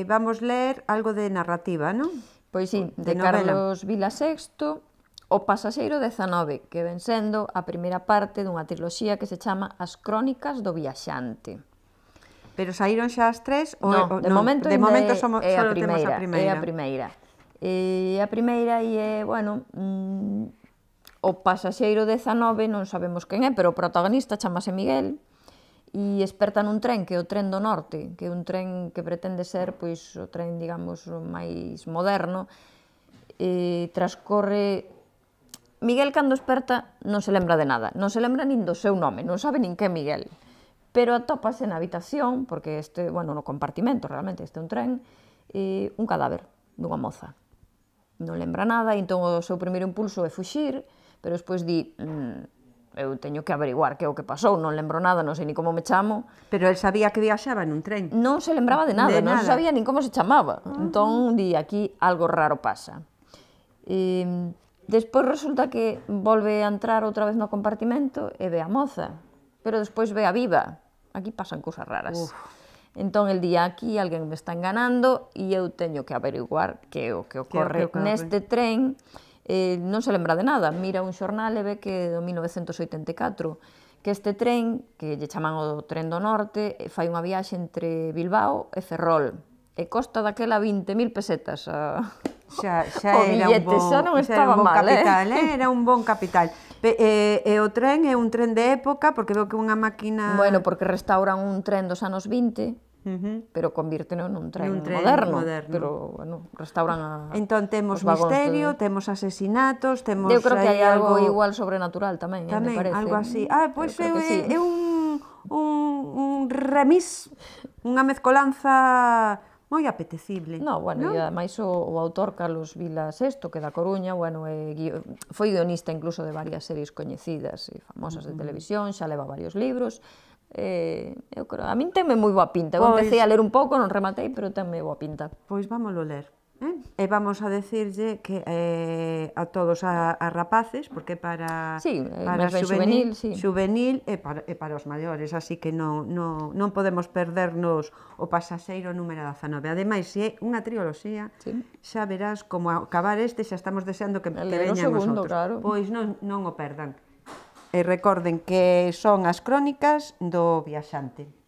vamos ler algo de narrativa, non? Pois sí, de Carlos Vilasexto, O pasaxeiro 19, que ven sendo a primeira parte dunha triloxía que se chama As Crónicas do Viaxante. Pero saíron xa as tres? Non, de momento é a primeira. É a primeira. E a primeira é, bueno, o pasaxeiro 19 non sabemos quen é, pero o protagonista chamase Miguel e esperta nun tren, que é o tren do norte, que é un tren que pretende ser, pois, o tren, digamos, máis moderno, e transcorre... Miguel, cando esperta, non se lembra de nada, non se lembra nin do seu nome, non sabe nin que é Miguel, pero atópase na habitación, porque este, bueno, no compartimento, realmente, este é un tren, un cadáver dunha moza. Non lembra nada, e entón o seu primeiro impulso é fuxir, pero despois di, eu teño que averiguar que é o que pasou, non lembro nada, non sei ni como me chamo. Pero el sabía que viaxaba nun tren? Non se lembraba de nada, non sabía nin como se chamaba. Entón, di, aquí algo raro pasa. Despois resulta que volve a entrar outra vez no compartimento e ve a moza, pero despois ve a viva. Aquí pasan cousas raras. Entón, el día aquí, alguén me está enganando e eu teño que averiguar que é o que ocorre neste tren. Non se lembra de nada, mira un xornal e ve que do 1984, que este tren, que lle chaman o tren do norte, fai unha viaxe entre Bilbao e Ferrol, e costa daquela 20.000 pesetas xa era un bon capital, era un bon capital. E o tren é un tren de época, porque veo que unha máquina... Bueno, porque restauran un tren dos anos 20, pero convírteno nun tren moderno. Pero, bueno, restauran entón temos misterio, temos asesinatos, temos... Eu creo que hai algo igual sobrenatural tamén, me parece. Tamén, algo así. Pois é un remix, unha mezcolanza... moi apetecible. No, bueno, e ademais o autor Carlos Vilasexto, que da Coruña, bueno, foi guionista incluso de varias series coñecidas e famosas de televisión, xa leva varios libros. Eu creo, a min tenme moi boa pinta. Eu empecé a ler un pouco, non rematei, pero tenme boa pinta. Pois vámoslo ler. E vamos a decirlle que a todos a rapaces, porque para xuvenil e para os maiores, así que non podemos perdernos o pasaxeiro número 19. Ademais, se é unha triloxía, xa verás como acabar este, xa estamos deseando que veñan os outros. Pois non o perdan. E recorden que son as crónicas do viaxante.